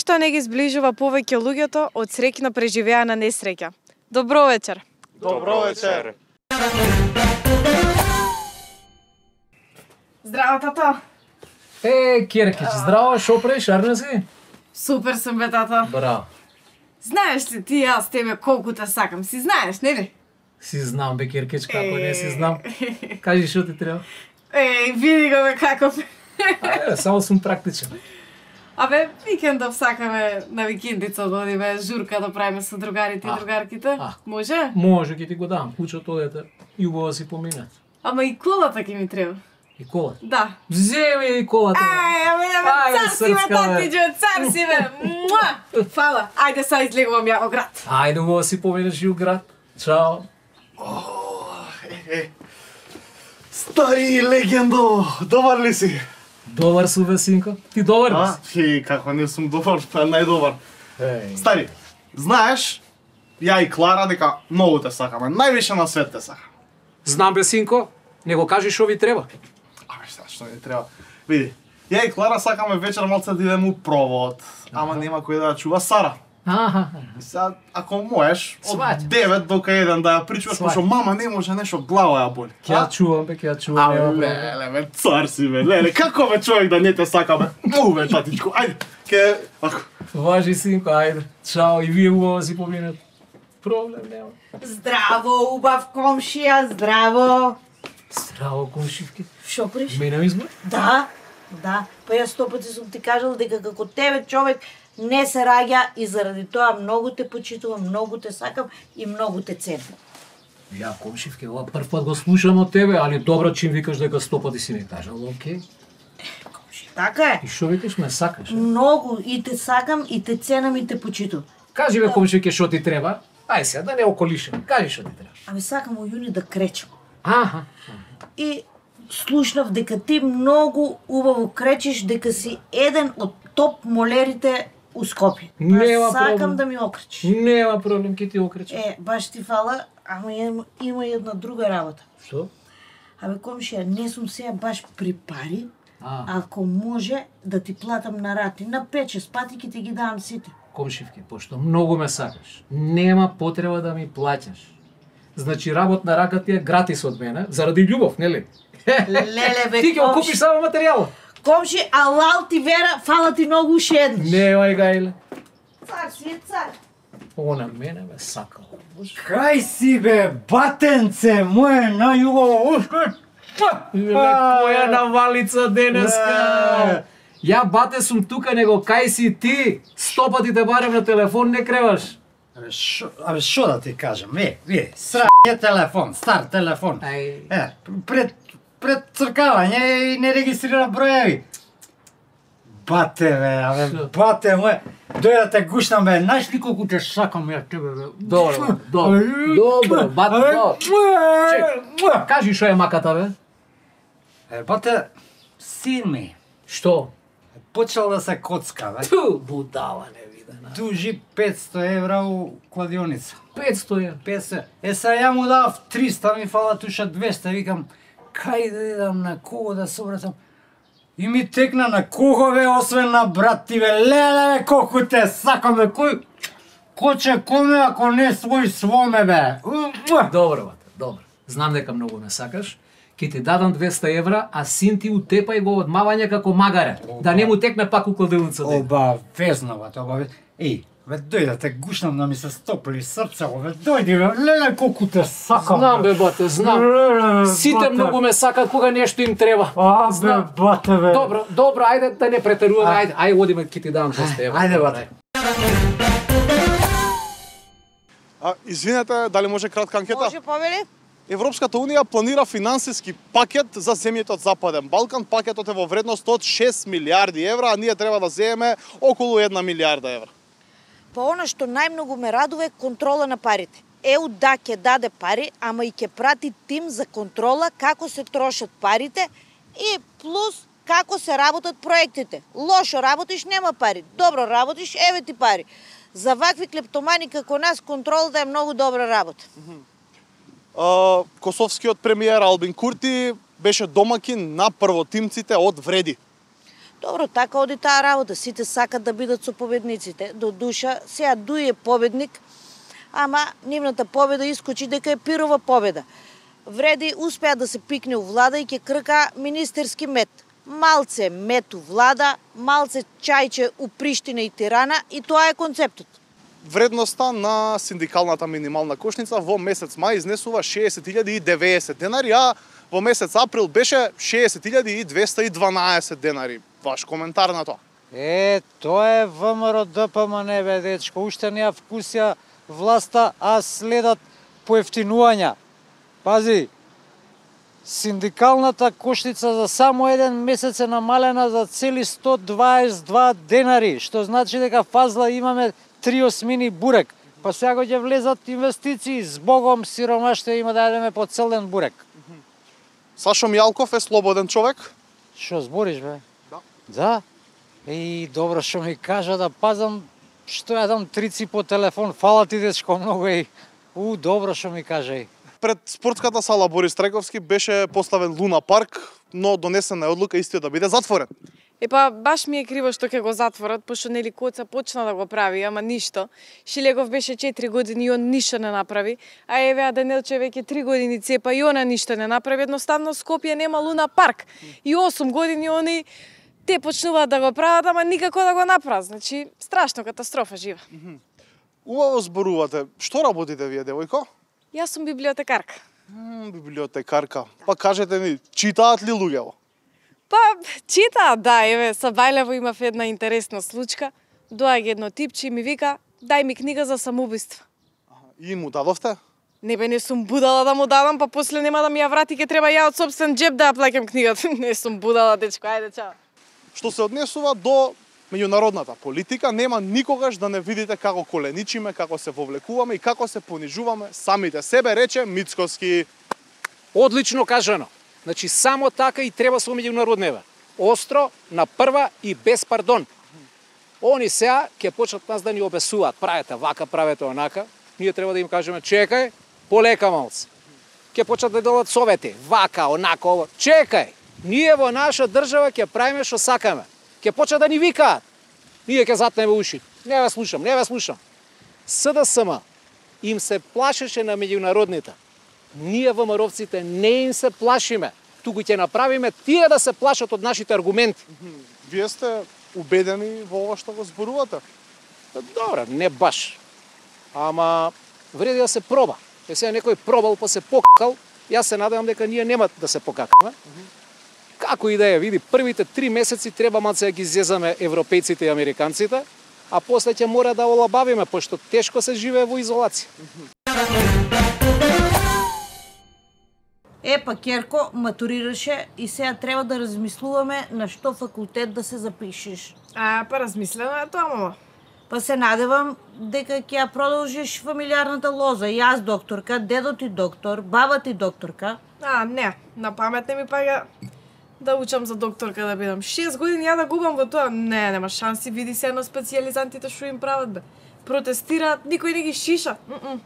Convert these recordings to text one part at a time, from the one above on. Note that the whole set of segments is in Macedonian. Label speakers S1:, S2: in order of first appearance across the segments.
S1: Ништо не ги зближува повеќе луѓето од среќно преживеана несреќа. Добро вечер.
S2: Добро вечер.
S1: Здраво, тато.
S3: Киркич, здраво, шо правиш, арна си?
S1: Супер сум, бе, тато.
S3: Браво.
S1: Знаеш ли ти јас тебе колку те сакам? Си знаеш, нели?
S3: Си знам, бе, Киркич, како не си знам. Кажи шо ти треба.
S1: Види го, бе, каков.
S3: Ајде, само сум практичен.
S1: Абе, викендов сакаме на викендица да одиме журка да правиме со другарите и другарките. Може?
S3: Може, ќе ти го дам, кучето одете и убаво си поминат.
S1: Ама и колата ќе ми треба.
S3: И колата?
S1: Да.
S3: Земи и колата.
S1: Цар си, бе, татиџо, цар си, бе. Фала. Ајде, са излегувам ја во град.
S3: Ајде, убаво си поминаш и у град. Чао.
S2: Стари легендо, добар ли си?
S3: Добар су, бе, синко. Ти добар ли си?
S2: Како не сум добар, па најдобар. Стари, знаеш, ја и Клара дека многу те сакаме, највише на свет те сакам.
S3: Знам, бе, синко. Не го кажи шо ви треба.
S2: Абе, што ми треба? Види, ја и Клара сакаме вечер малце да идеме у провод, ама нема кој да ја чува Сара. И сега, ако можеш, од 9 до 1 да ја причуваш, пошто мама не може нешто, глава ја боли.
S3: Ќе ја чувам, бе, ќе ја чувам.
S2: Леле, бе, цар си, бе, леле, како бе човек да не те сака, бе? Му, бе, татичко, ајде, ако...
S3: Важи, синко, ајде. Чао, и вие убаво си поминат. Проблем нема.
S4: Здраво, убав комшија, здраво.
S3: Здраво, комшивки.
S4: Шо приш?
S3: Мене избор?
S4: Да. Па јас 100 пати сум ти кажал дека како тебе човек не се раѓа и заради тоа многу те почитувам, многу те сакам и многу те ценам.
S3: Ја, комшивке, ова прв пат го слушам од тебе, али добро чим викаш дека 100 пати си не кажал, окей?
S4: Комши, така е.
S3: И шо викаш, ме сакаш?
S4: Многу и те сакам и те ценам и те почитувам.
S3: Кажи бе, комшивке, шо ти треба? Ај сега, да не околишам. Кажи шо ти треба.
S4: Абе сакам у јуни да кречам.
S3: Аха.
S4: И слушнав дека ти многу убаво кречиш, дека си еден од топ молерите у Скопје.
S3: Нема
S4: Сакам
S3: проблем.
S4: да ми окречиш.
S3: Нема проблем, ќе ти окречам.
S4: Баш ти фала, ама има една друга работа.
S3: Што?
S4: Абе, комшија, не сум сега баш при пари, ако може да ти платам на рати, на 5-6 пати ќе ти ги давам сите.
S3: Комшивке, пошто многу ме сакаш, нема потреба да ми плаќаш. Значи, работ на рака ти е гратис од мене, заради љубов, нели?
S4: Леле, бе,
S3: Ти ќе го купиш само материјалот.
S4: Комши, алал ти вера, фала ти многу уште еднаш.
S3: Нема гајле.
S4: Цар си е цар.
S3: Она мене ме сакал.
S5: Кај си бе, батенце, моје најубаво ушко.
S3: Која навалица денеска. Ја бате сум тука, него кај си ти? 100 пати те барем на телефон, не креваш.
S5: Абе, шо да ти кажам, ви, телефон, стар телефон. Пред цркавање и не регистрира броеви. Бате, бе, бате мој, дојде да те гушнам, бе, знаеш ли колку те сакам ја тебе, бе?
S3: Добро, бате, Чек, кажи шо е маката, бе?
S5: Бате, син ми.
S3: Што?
S5: Почел да се коцка, бе.
S3: Ту, будала невидена.
S5: Дужи 500 евра у кладионица.
S3: 500 евра.
S5: 500. Сега ја му дав 300, ми фала туша 200, викам, кај да идам, на кого да се обратам? И ми текна на кого, бе, освен на брат ти, бе, леле, бе, колку те сакам, бе, кој ќе коме ако не свој своме, бе.
S3: Добро, бате, добро. Знам дека многу ме сакаш. Ке ти дадам 200 евра, а син ти утепај го од мавање како магаре. Да не му текне пак у кладилница.
S5: Обавезно, бате, обавезно. Бе, дојде да те гушнам да ми се стопли срцево, бе, дојди, бе, леле, колку те сакам.
S3: Знам, бе, бате, знам. Сите многу ме сакат кога нешто им треба.
S5: Бе, бате, бе.
S3: Добро, ајде да не претеруваме, ајде одиме, ќе ти дам 200 евра.
S5: Ајде, бате.
S2: Извинете, дали може кратка анкета?
S4: Може, повели?
S2: Европската Унија планира финансиски пакет за земјите од Западен Балкан. Пакетот е во вредност од 6 милиарди евра, а ние треба да земеме околу 1 милиарда евра.
S4: Па она што најмногу ме радува е контрола на парите. ЕУ да ќе даде пари, ама и ќе прати тим за контрола како се трошат парите и плюс како се работат проектите. Лошо работиш, нема пари. Добро работиш, еве ти пари. За вакви клептомани како нас контролата е многу добра работа.
S2: Косовскиот премиер Албин Курти беше домакин на првотимците од Вреди.
S4: Добро, така оди таа работа. Сите сакат да бидат со победниците. До душа, сега Дуј е победник, ама нивната победа искочи дека е пирова победа. Вреди успеа да се пикне у влада и ќе крка министерски мет. Малце мет у влада, малце чајче у Приштина и Тирана и тоа е концептот.
S2: Вредноста на синдикалната минимална кошница во месец мај изнесува 60.090 денари, а во месец април беше 60.212 денари. Ваш коментар на тоа?
S5: Тоа е ВМРО ДПМН, бе, дечко. Уште не ја вкусија власта, а следат поевтинувања. Пази, синдикалната кошница за само еден месец е намалена за цели 122 денари, што значи дека фазла имаме 3 осмини бурек. Па сега ќе влезат инвестиции, збогом сиромаштво има да јадеме по цел ден бурек.
S2: Сашо Мјалков е слободен човек?
S5: Што збориш, бе?
S2: Да.
S5: Да? Добро што ми кажа да пазам што јадам трици по телефон. Фала ти, дечко, многу добро што ми кажа
S2: Пред спортската сала Борис Трековски беше поставен Луна парк, но донесена е одлука истиот да биде затворен.
S1: Баш ми е криво што ќе го затворат, пошто нели Коца почна да го прави, ама ништо. Шилегов беше 4 години и он ништо не направи, а Евеа Данилче веќе 3 години цепа и она ништо не направи. Едноставно Скопје нема Луна парк. И 8 години они те почнуваат да го прават, ама никако да го направат. Значи, страшно катастрофа жива.
S2: Убаво зборувате. Што работите вие, девојко?
S1: Јас сум библиотекарка.
S2: Библиотекарка. Па кажете ми, читаат ли луѓето?
S1: Читаат, да, еве, са Бајлево имав една интересна случка. Доаѓа едно типче и ми вика, дај ми книга за самоубиство.
S2: И му дадовте?
S1: Не сум будала да му дадам, па после нема да ми ја врати, ќе треба ја од собствен джеб да ја плаќам книгата. Не сум будала, дечко, ајде, чао.
S2: Што се однесува до меѓународната политика, нема никогаш да не видите како коленичиме, како се вовлекуваме и како се понижуваме самите себе, рече Мицкоски.
S3: Одлично кажано. Значи, само така и треба со меѓународнева. Остро, на прва и без пардон. Они сега ќе почнат нас да ни обесуваат. Правете вака, правете онака. Ние треба да им кажеме, чекај, полека малце. Ќе почнат да дадат совети. Вака, онака, ова. Чекај, ние во наша држава ќе правиме што сакаме. Ќе почнат да ни викаат. Ние ќе затнеме уши. Не ве слушам. СДСМ им се плашеше на меѓународните. Ние ВМРО-вците не им се плашиме, туку ќе направиме тие да се плашат од нашите аргументи.
S2: Вие сте убедени во ова што го зборувате?
S3: Добре, не баш. Ама вреди да се проба. Сега некој пробал па се покакал, јас се надевам дека ние нема да се покакаме. Како и да е, види, првите 3 месеци треба малце да ги зезаме европејците и американците, а после ќе мора да олабавиме, пошто тешко се живее во изолација.
S4: Керко матурираше и сега треба да размислуваме на што факултет да се запишеш.
S1: Размислено е тоа, мама.
S4: Па се надевам дека ќе ја продолжиш фамилиарната лоза. Јас докторка, дедо ти доктор, баба ти докторка.
S1: Не, на памет не ми паѓа да учам за докторка да бидам. 6 години ја да губам во тоа. Не, нема шанси, види се на специјализантите што им прават, бе. Протестираат, никој не ги шиша.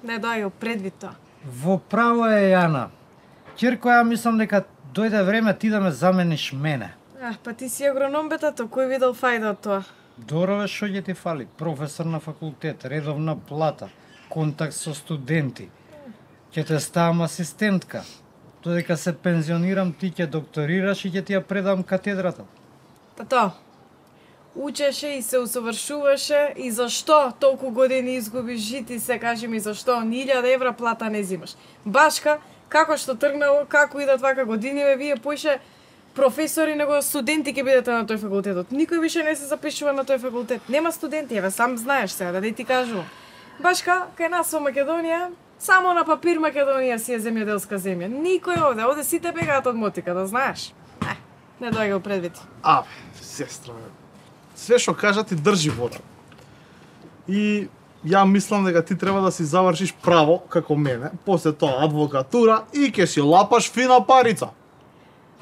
S1: Не доаѓа предвид тоа.
S5: Во право е, Јана. Ќерко, ја мислам дека дојде време ти да ме замениш мене.
S1: Па ти си агроном, бе, тато, кој видел фајда од тоа?
S5: Дорове, што ќе ти фали? Професор на факултет, редовна плата, контакт со студенти. Ќе те ставам асистентка. Додека се пензионирам, ти ќе докторираш и ќе ти ја предам катедрата.
S1: Тато, учеше и се усовршуваше и зашто толку години изгубиш жити, се кажи ми зашто 1000 евра плата не зимаш. Башка, како што тргнало, како идат вака години, вие поише професори него студенти ќе бидете на тој факултетот. Никој више не се запишува на тој факултет. Нема студенти, сам знаеш сега, да не ти кажувам. Башка, кај нас во Македонија, само на папир Македонија си е земјоделска земја. Никој овде сите бегаат од мотика, да знаеш. Не доаѓа предвид.
S2: Сестра, све што кажа ти држи вода. И ја мислам дека ти треба да си завршиш право, како мене, после тоа адвокатура и ќе си лапаш фина парица.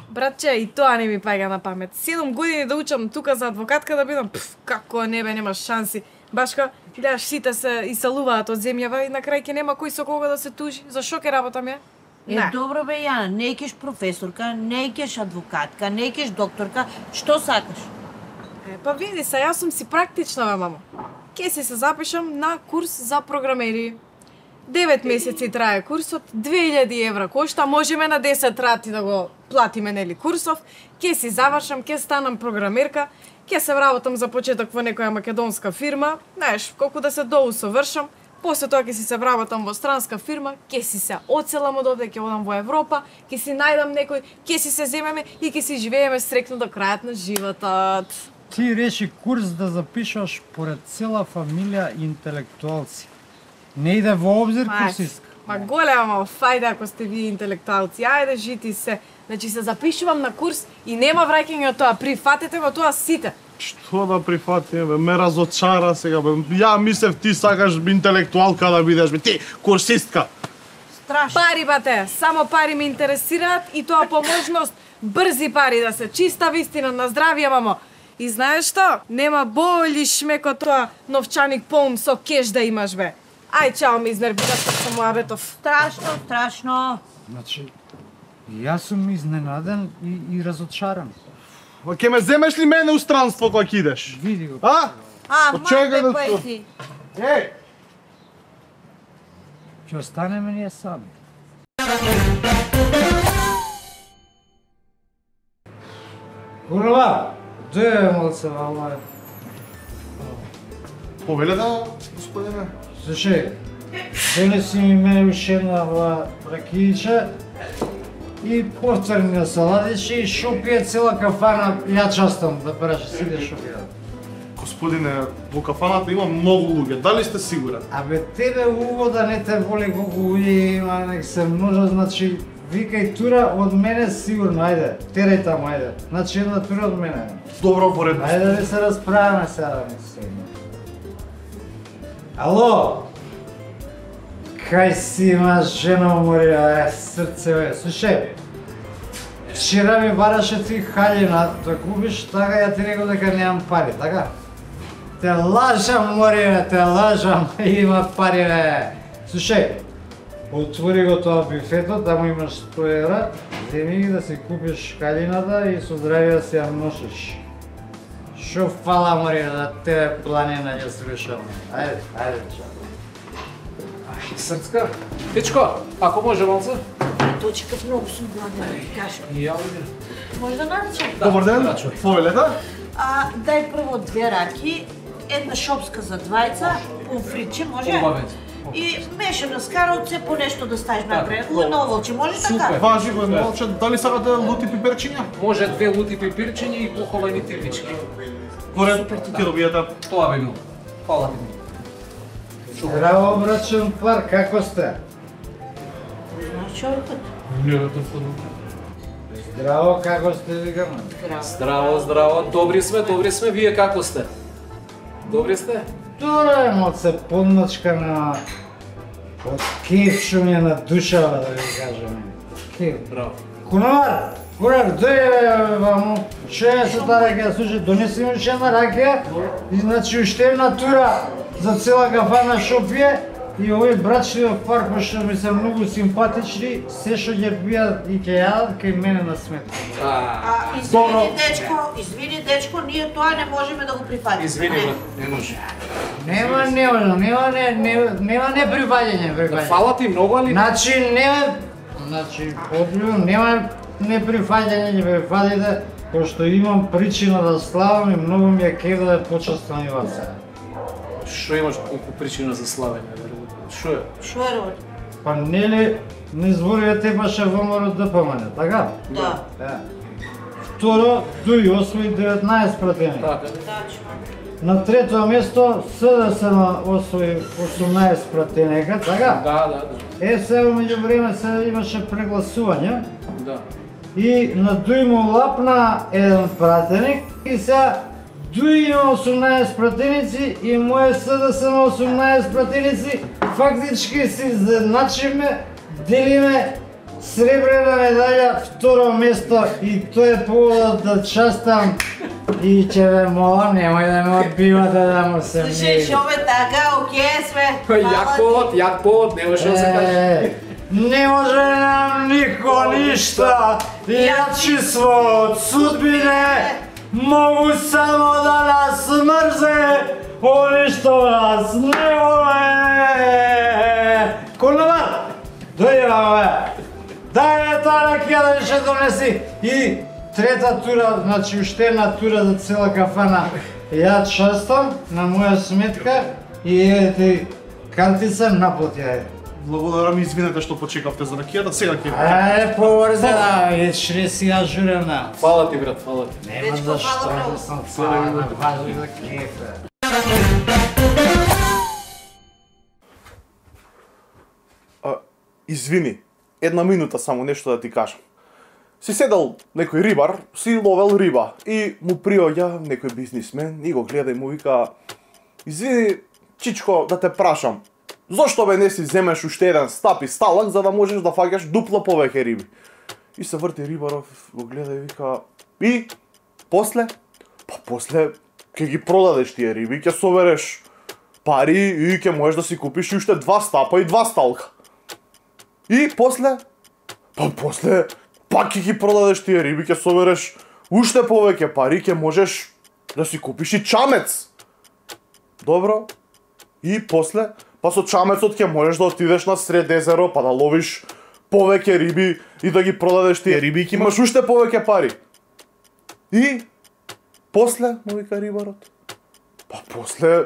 S1: Братче, и тоа не ми паѓа на памет. 7 години да учам тука за адвокатка да бидам, како нема шанси. Башка, гледаш, сите се исалуваат од земјава и на крај ќе нема кој со кого да се тужи. За што ќе работам ја?
S4: Добро бе, Јана, не ќеш професорка, не ќеш адвокатка, не ќеш докторка, што сакаш?
S1: Па види се, јас сум си практична, бе, мамо. Ке си се запишам на курс за програмери. 9 месеци трае курсот, 2000 евра кошта, можеме на 10 рати да го платиме, нели, курсов. Ке си завршам, ке станам програмерка, ке се вработам за почеток во некоја македонска фирма, знаеш, колку да се доусовршам, после тоа ќе си се вработам во странска фирма, ке си се оцелам од овде, ќе одам во Европа, ке си најдам некој, ке си се земеме и ке си живееме стрекно до крајот на животот.
S5: Ти реши курс да запишаш поред цела фамилија интелектуалци. Не иде во обзир курсистка.
S1: Ма голема фајда ако сте вие интелектуалци. Ајде, жити се. Значи се запишувам на курс и нема враќање од тоа. Прифатете го тоа сите.
S2: Што да прифатиме, бе? Ме разочара сега, бе. Ја мислев ти сакаш интелектуалка да бидеш, бе. Ти, курсистка.
S4: Страшно.
S1: Пари, бате. Само пари ме интересираат и тоа по можност брзи пари да се. Чиста вистина на здравје, мамо. И знаеш што? Нема боли шмеко тоа новчаник полн со кеш да имаш, бе. Ај, чао, ми изнервираш како со Моабетов.
S4: Страшно, страшно.
S5: Значи, јас сум изненаден и разочаран.
S2: Ма ќе ме земеш ли мене у странство кога ќе идеш?
S5: Види го.
S2: А?
S4: Мајте поети.
S2: Еј!
S5: Ќе останеме ние сами. Курва, дојде малце вама.
S2: Повеле да, господине.
S5: Слушај, донеси ми мене уште една ова ракијича и повторни салатичи и шо пие цела кафана, ја частам да праше сиде шо пие.
S2: Господине, во кафаната има многу луѓе, дали сте сигурен?
S5: Абе, тебе увода не те воли колку луѓе има, нек се множа, значи, викај тура од мене сигурно, ајде, терај таму, ајде. Значи, една тура од мене.
S2: Добро, поредно.
S5: Ајде да се расправаме сега, мислим. Ало? Кај си имаш жена уморила, срце, бе. Слушај, вчера ми бараше ти халина да купиш, така ја ти рекол дека немам пари, така? Те лажам, мориле, те лажам, има пари, бе. Слушај, отвори го тоа бифето, таму имаш 100 евра, земи ги да си купиш халината и со здравие да си ја носиш. Шо фала, мориле, да тебе планина ја слушам. Ајде, ајде, чао.
S3: Срцка, Пичко, ако може малце?
S4: Точкав, многу сум гладен, да ти кажам.
S3: И ја видим.
S4: Може да наречам?
S2: Добар ден, повелета?
S4: Дај прво 2 раки, една шопска за двајца, помфриче, може?
S3: Убавец.
S4: И мешано с каралце, по нешто да ставиш накрај. Едно оволче, може така?
S2: Важи го едно овче, дали сакате лути пиперчиња?
S3: Може 2 лути пипирчиња и похолени тивички.
S2: Поред, ти добиете.
S3: Тоа би било. Фала ви.
S5: Здраво, брачен пар, како сте?
S4: Знаеш човекот?
S3: Не, толку.
S5: Здраво, како сте, викам?
S3: Здраво, здраво. Добри сме. Вие како сте? Добри сте?
S5: Тоа е малце подмачка на... од кеф шо ми е на душава, да ви кажем. Кеф.
S3: Браво.
S5: Кунар, дојде ваму, шо е со таа ракија, слушај, донеси ми уште една ракија, и значи уште една тура за цела кафана шо пие, и овој брачливиот пар кој што ми се многу симпатични, се што ќе пијат и ќе јадат кај мене на сметка.
S4: Извини дечко, ние тоа не можеме да го прифатиме.
S3: Извини, не може.
S5: Нема неприфаќање.
S3: Фала ти многу, али...
S5: Значи, одбивно, нема неприфаќање, ќе прифатите, пошто имам причина да славам и многу ми е кеф да почествам и вас.
S3: Шо имаш колку причина за славење, верувам? Шо е?
S4: Шо е, Роли?
S5: Па нели не зборија тепаше ВМРО ДПМН, така?
S4: Да.
S5: Второ, дуи освои 19 пратени.
S3: Така.
S5: На трето место СДСМ освои 18 пратенека, така?
S3: Да.
S5: Сега меѓу време се имаше прегласување.
S3: Да.
S5: И на Дуи му лапна еден пратеник и сега Дуи има 18 пратеници и моје СДСМ 18 пратеници, фактички се изедначиме, делиме сребрена медаља, второ место и тоа е поводот да частам и ќе ве молам, немој да ме одбивате да му се мири.
S4: Слушај, шо бе така, окей сме.
S3: Јак повод, не може да се каже.
S5: Не може нам нико ништа, јачи свој од судбине, Могу само да нас мрзе, они што нас не воле. Конобар, дојде бабе. Дај таа ракија да ще донеси. И трета тура, значи уште една тура за цела кафана. Ја частам на моја сметка и ете картица наплати ја.
S2: Благодарам, извинете што почекавте за ракијата, сега ќе.
S5: Побрзо да, ешре сега журевна.
S2: Фала ти брат, фала ти.
S5: Нема за што, сам фала, важи за кефе.
S2: Извини, една минута само нешто да ти кажам. Си седал некој рибар, си ловел риба и му приоѓа некој бизнисмен и го гледа и му вика: "Извини, чичко, да те прашам, зошто бе не си земеш уште еден стап и сталак за да можеш да фаќаш дупло повеќе риби?" И се врти рибаров, го гледа и вика: "И после?" "Па после ќе ги продадеш тие риби, ќе собереш пари и ќе можеш да си купиш уште 2 стапа и 2 сталка." "И после?" "Па после пак ќе ги продадеш тие риби, ќе собереш уште повеќе пари, ќе можеш да си купиш и чамец." "Добро. И после?" "Па со чамецот ќе можеш да отидеш на сред езеро, па да ловиш повеќе риби и да ги продадеш тие риби и ќе имаш уште повеќе пари." "И после?" му вика рибарот. "Па после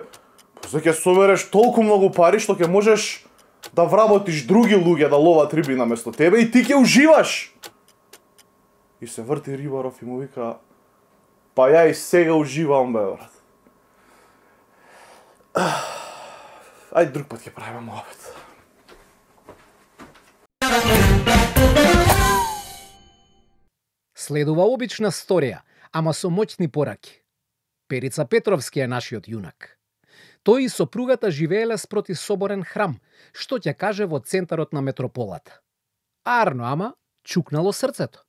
S2: ќе собереш толку многу пари што ќе можеш да вработиш други луѓе да ловат риби наместо тебе и ти ќе уживаш." И се врти рибаров и му вика: "Па ја и сега уживам, бе, брат. Ајде друг пат ќе правиме муабет."
S3: Следува обична сторија, ама со моќни пораки. Перица Петровски е нашиот јунак. Тој и сопругата живееле спроти соборен храм, што ќе каже во центарот на метрополата. Арно, ама чукнало срцето.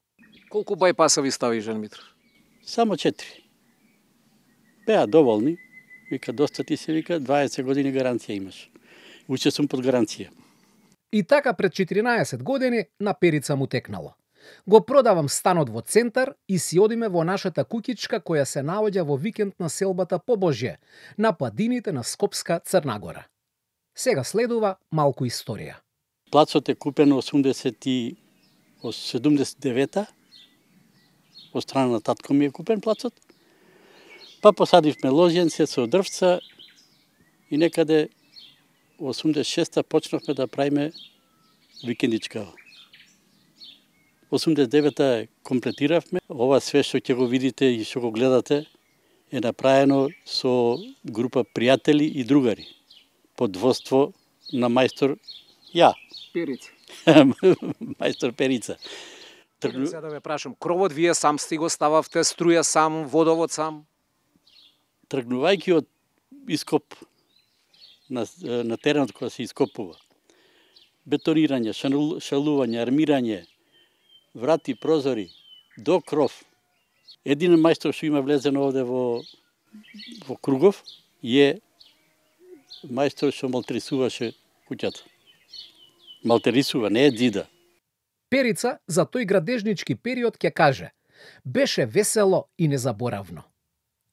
S3: Колку бајпаса ви стави, Жан Митров?
S6: Само 4. Беа доволни. Вика, доста ти се, вика, 20 години гаранција имаш. Уче сум под гаранција.
S3: И така пред 14 години на Перица му текнало. Го продавам станот во центар и си одиме во нашата куќичка која се наоѓа во викенд на селбата Побожје, на падините на Скопска Црна Гора. Сега следува малку историја.
S6: Плацот е купен 79-та, од страна на татко ми е купен плацот. Па посадивме ложенце со дрвца и некаде 86-та почнавме да правиме викендичка. 89-та комплетиравме. Ова све што ќе го видите и што го гледате е направено со група пријатели и другари. Под водство на мајстор ја.
S3: Перица.
S6: Мајстор Перица.
S3: Сега да ве прашам, кровот вие сам сте го стававте, струја сам, водовод сам?
S6: Тргнувајќи од ископ на теренот која се ископува, бетонирање, шалување, армирање, врати, прозори, до кров. Един мајстор што има влезено овде во Кругов е мајстор што малтерисуваше куќата. Малтерисува, не е дзида.
S3: Перица за тој градежнички период ќе каже: беше весело и незаборавно.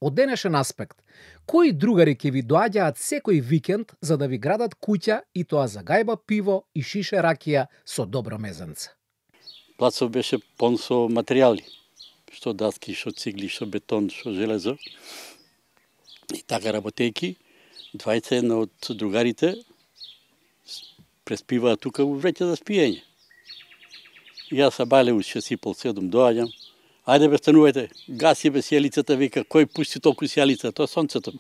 S3: Од денешен аспект, кои другари ќе ви доаѓаат секој викенд за да ви градат куќа и тоа за гајба пиво и шише ракија со добро мезенце?
S6: Плацов беше пон со материјали, што даски, што цигли, што бетон, што железо. И така работејки, 21 од другарите преспиваат тука во вреќа за спиење. Јас са бајле у 6:30 доаѓам. Ајде бе, станувајте, гаси бе сијалицата, вика, кој пусти толку сијалица, тоа сонцето.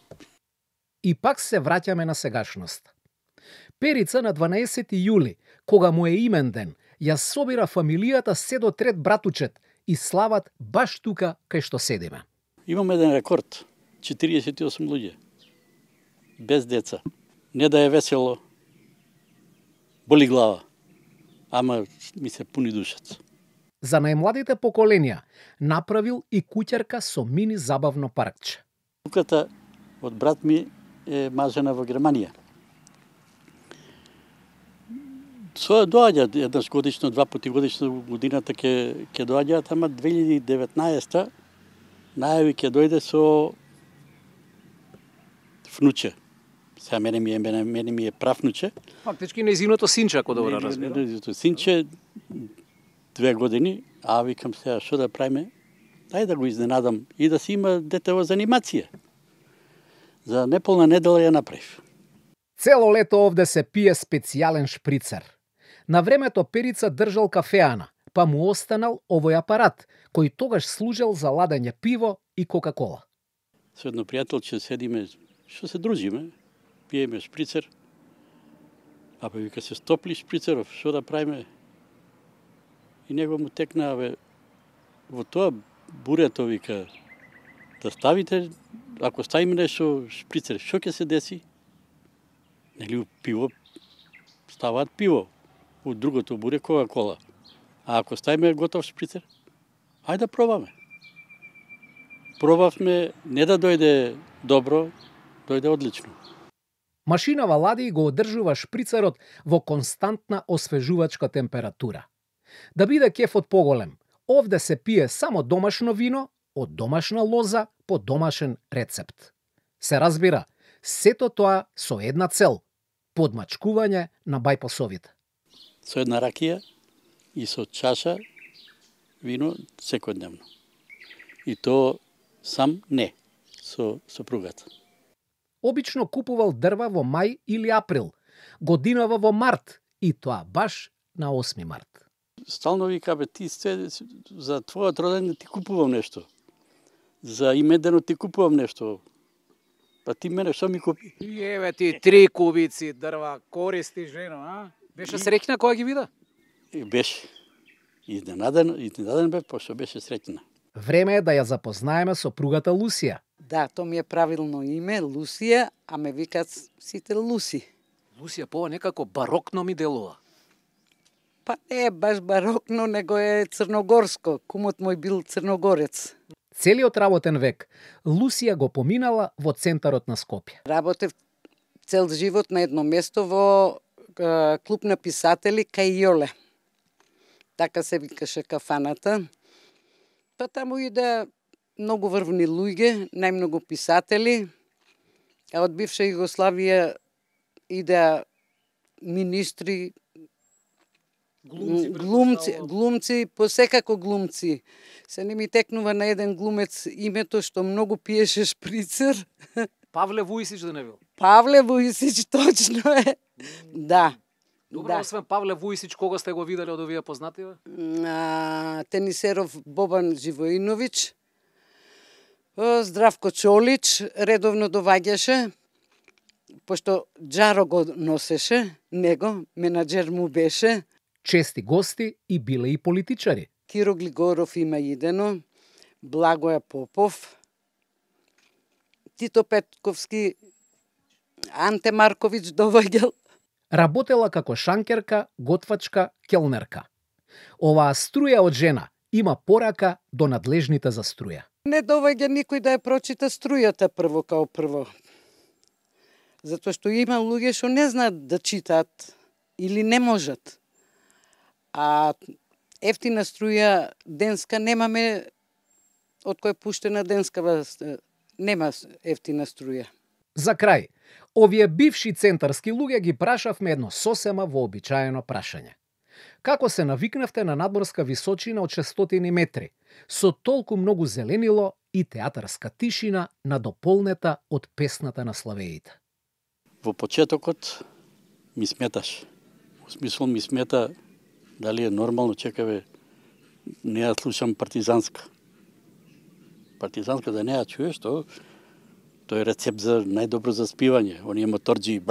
S3: И пак се враќаме на сегашност. Перица на 12 јули, кога му е имен ден, ја собира фамилијата се до трет братучет и слават баш тука кај што седиме.
S6: Имаме еден рекорд, 48 луѓе, без деца. Не да е весело, боли глава, ама ми се пуни душата.
S3: За најмладите поколенија направил и куќарка со мини забавно паркче.
S6: Туката од брат ми е мажена во Германија. Своја доаѓа еднаш годишно, 2 пати годишно годината ќе доаѓаат, ама 2019-та најави ќе дојде со внуче. Сега мене ми е правнуче.
S3: Фактички нејзиното синче, ако добро разбирам.
S6: Нејзиното синче 2 години, а викам сега што да правиме? Ајде да го изненадам и да си има детево за анимација. За неполна недела ја направив.
S7: Цело лето овде се пие специјален шприцер. На времето Перица држал кафеана, па му останал овој апарат, кој тогаш служел за ладење пиво и кока-кола.
S6: Со едно пријателче седиме, што се дружиме, пиеме шприцер, а па вика се стопли шприцеров, што да правиме? И него му текна, во тоа бурето, вика, да ставите, ако ставиме нешто шприцер, што ќе се деси? Нели пиво, ставаат пиво, у другото буре кока-кола. А ако ставиме готов шприцер, ајде да пробаме. Пробавме, не да дојде добро, дојде одлично.
S7: Машинава лади го одржува шприцерот во константна освежувачка температура. Да биде кефот поголем, овде се пие само домашно вино, од домашна лоза, по домашен рецепт. Се разбира, сето тоа со една цел – подмачкување на бајпосовите.
S6: Со една ракија и со чаша вино секојдневно. И то сам не, со сопругата.
S7: Обично купувал дрва во мај или април, годинава во март и тоа баш на 8 март.
S6: Стално вика, ти за твојот роден ти купувам нешто. За имедено ти купувам нешто. Па ти мене што ми купи?
S3: Еве ти 3 кубици дрва, користи жено, а? Беше среќна кога ги вида?
S6: Беше. Изненаден бе, пошто беше среќна.
S7: Време е да ја запознаеме сопругата Лусија.
S8: Да, то ми е правилно име, Лусија, а ме викаат сите Луси.
S3: Лусија по некако барокно ми делува.
S8: Па не е баш барокно, него е црногорско. Кумот мој бил црногорец.
S7: Целиот работен век Лусија го поминала во центарот на Скопје.
S8: Работев цел живот на едно место во клуб на писатели кај Јоле. Така се викаше кафаната. Па таму иде многу врвни луѓе, најмногу писатели, а од бивша Југославија иде министри, глумци, посекако глумци. Се не ми текнува на еден глумец името што многу пиеше шприцер.
S3: Павле Вујсич да не бил?
S8: Павле Вујсич, точно е. Да.
S3: Добро, освен Павле Вујсич, кога сте го виделе од овие познати?
S8: Тенисеров Бобан Живоиновиќ, Здравко Чолич, редовно доваѓаше, пошто Джаро го носеше, него, менаџер му беше.
S7: Чести гости и биле и политичари.
S8: Киро Глигоров има идено, Благоја Попов, Тито Петковски, Анте Марковиќ доваѓал.
S7: Работела како шанкерка, готвачка, келнерка. Оваа струја од жена има порака до надлежните за струја.
S8: Не доваѓа никој да ја прочита струјата прво као прво. Затоа што има луѓе што не знаат да читаат или не можат. А ефтина струја денска немаме, од кој пуштена денскава, нема ефтина струја.
S7: За крај, овие бивши центарски луѓе ги прашавме едно сосема вообичаено прашање. Како се навикнавте на надморска височина од 600 метри, со толку многу зеленило и театарска тишина надополнета од песната на славеите?
S6: Во почетокот ми сметаш. Во смисол ми смета дали е нормално, чекаве, не ја слушам партизанска. Партизанска да не ја чуеш, тој е рецепт за најдобро заспивање. Оние моторџи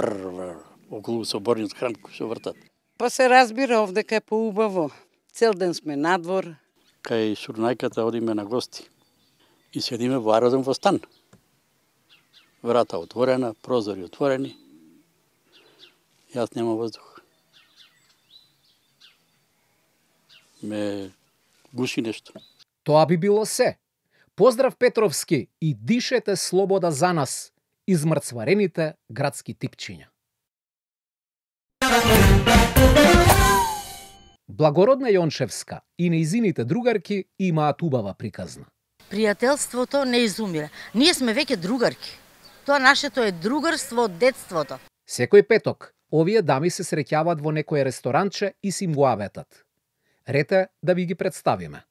S6: околу соборниот храм кој се вртат.
S8: Па се разбира, овдека е поубаво. Цел ден сме надвор.
S6: Кај Шурнајката одиме на гости. И седиме во аеродrom во стан. Врата отворена, прозори отворени. Јас нема воздух. Ме гуши нешто.
S7: Тоа би било се. Поздрав Петровски и дишете слобода за нас, измрцварените градски типчиња. Благородна Јончевска и нејзините другарки имаат убава приказна.
S4: Пријателството не изумира. Ние сме веќе другарки. Тоа нашето е другарство од детството.
S7: Секој петок, овие дами се среќаваат во некое ресторанче и си им го аветат. Рете да ви ги представиме.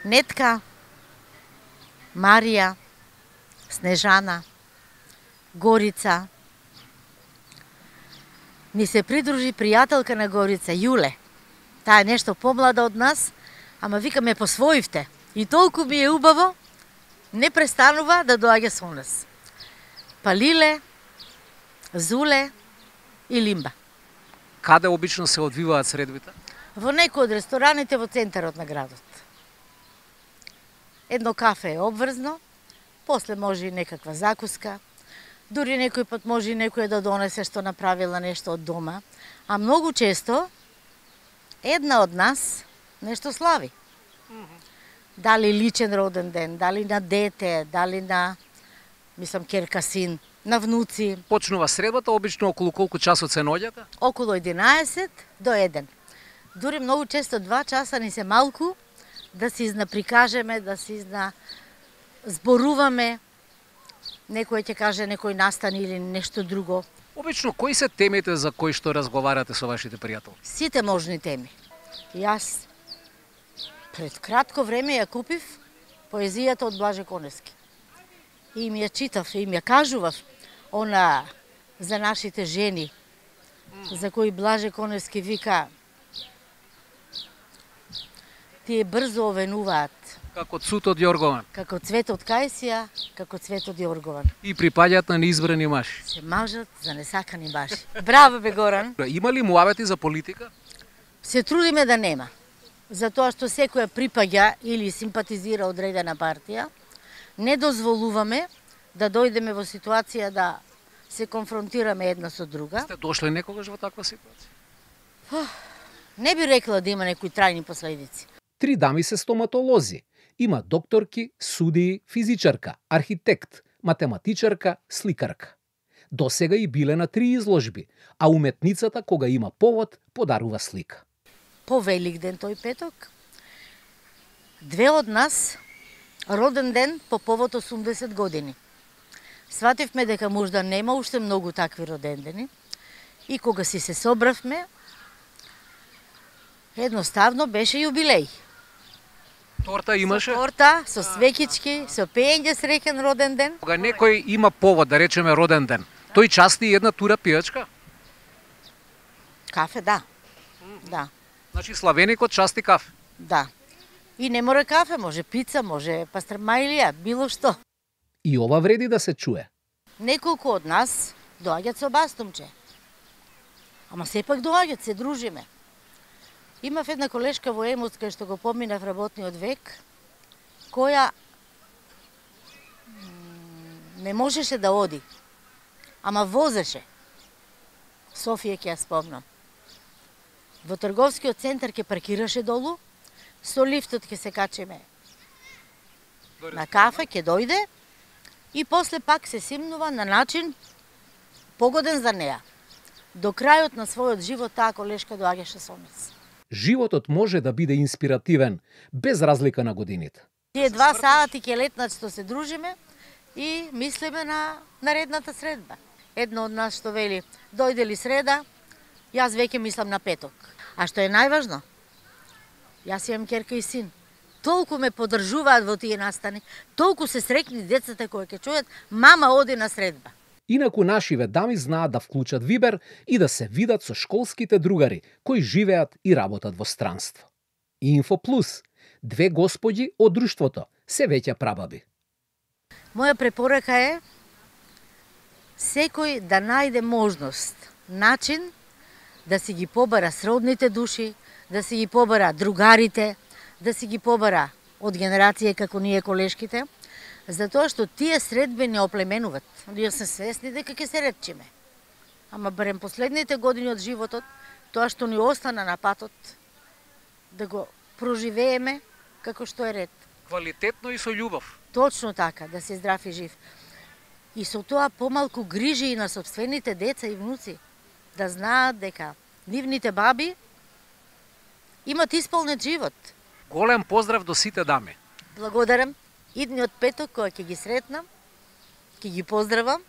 S4: Нетка, Марија, Снежана, Горица. Ни се придружи пријателка на Горица, Јуле. Таа е нешто помлада од нас, ама викаме посвоивте. И толку ми е убаво, не престанува да доаѓа со нас. Палиле, Зуле и Лимба.
S3: Каде обично се одвиваат средбите?
S4: Во некој од рестораните во центарот на градот. Едно кафе е обврзно, после може и некаква закуска, дури некој пат може и некој да донесе што направила нешто од дома, а многу често една од нас нешто слави. Дали личен роден ден, дали на дете, дали на, мислам, керка, син, на внуци.
S3: Почнува средбата, обично околу колку часот се наоѓате?
S4: Околу 11 до 1. Дури многу често 2 часа ни се малку да се изнаприкажеме, да се зборуваме. Некој ќе каже некој настани или нешто друго.
S3: Обично, кои се темите за кои што разговарате со вашите пријатели?
S4: Сите можни теми. Јас пред кратко време ја купив поезијата од Блаже Коневски. И им ја читав, и им ја кажував она за нашите жени, за кои Блаже Коневски вика тие брзо овенуваат.
S3: Како цутот Јоргован.
S4: Како цветот Кајсија, како цветот Јоргован.
S3: И припаѓаат на неизбрани мажи.
S4: Се мажат за несакани баши. Браво бе, Горан.
S3: Има ли муавети за политика?
S4: Се трудиме да нема. Затоа што секоја припаѓа или симпатизира одредена партија, не дозволуваме да дојдеме во ситуација да се конфронтираме една со друга.
S3: Сте дошле некогаш во таква ситуација?
S4: Не би рекла да има некои трајни последици.
S7: 3 дами се стоматолози. Има докторки, судии, физичарка, архитект, математичарка, сликарка. Досега и биле на 3 изложби, а уметницата кога има повод подарува слика.
S4: По Великден тој петок, 2 од нас роден ден по повод 80 години. Свативме дека можда нема уште многу такви родендени и кога си се собравме, едноставно беше јубилеј.
S3: Торта имаше?
S4: Со торта, со свеќички, со пеење среќен роден ден.
S3: Кога некој има повод, да речеме роден ден, тој части една тура пијачка?
S4: Кафе, да. Да.
S3: Значи славеникот части кафе?
S4: Да. И не мора кафе, може пица, може пастрмајлија, било што.
S7: И ова вреди да се чуе.
S4: Неколку од нас доаѓаат со бастумче. Ама сепак доаѓаат, се дружиме. Имав една колешка во Емот, кај што го поминав работниот век, која не можеше да оди, ама возеше. Софија ќе ја спомнам. Во трговскиот центар ќе паркираше долу, со лифтот ќе се качиме на кафе, ќе дојде и после пак се симнува на начин погоден за неа. До крајот на својот живот таа колешка доаѓаше со нас.
S7: Животот може да биде инспиративен, без разлика на годините.
S4: Тие 2 сати ќе летнат што се дружиме и мислиме на наредната средба. Едно од нас што вели, дојде ли среда, јас веќе мислам на петок. А што е најважно? Јас имам керка и син. Толку ме поддржуваат во тие настани, толку се среќни децата кои ќе чујат, мама оди на средба.
S7: Инаку нашиве дами знаат да вклучат Вибер и да се видат со школските другари кои живеат и работат во странство. Инфо Плюс, 2 господи од друштвото, се веќе прабаби.
S4: Моја препорака е секој да најде можност, начин да си ги побара сродните души, да си ги побара другарите, да си ги побара од генерација како ние колешките, затоа што тие средби не оплеменуват. Ние се свесни дека ќе се ретчиме. Ама барем последните години од животот, тоа што ни остана на патот, да го проживееме како што е ред.
S3: Квалитетно и со љубов.
S4: Точно така, да се здрав и жив. И со тоа помалку грижи и на собствените деца и внуци, да знаат дека нивните баби имат исполнет живот.
S3: Голем поздрав до сите дами.
S4: Благодарам. Идниот петок кога ќе ги сретнам, ќе ги поздравам.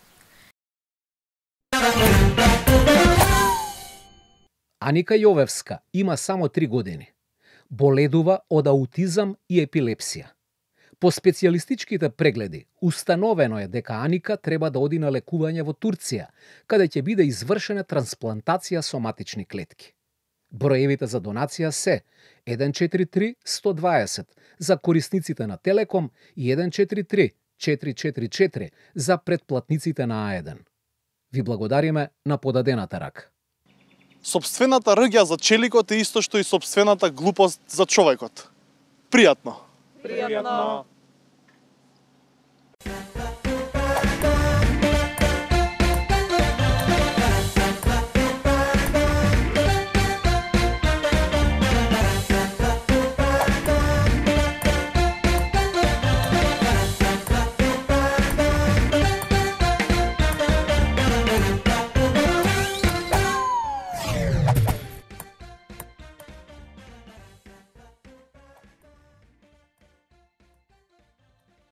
S7: Аника Јовевска има само 3 години. Боледува од аутизам и епилепсија. По специјалистичките прегледи, установено е дека Аника треба да оди на лекување во Турција, каде ќе биде извршена трансплантација соматични клетки. Броевите за донација се 143-120 за корисниците на Телеком и 143-444 за претплатниците на А1. Ви благодариме на подадената рака.
S2: Сопствената рѓа за челикот е исто што и сопствената глупост за човекот. Пријатно.
S1: Пријатно.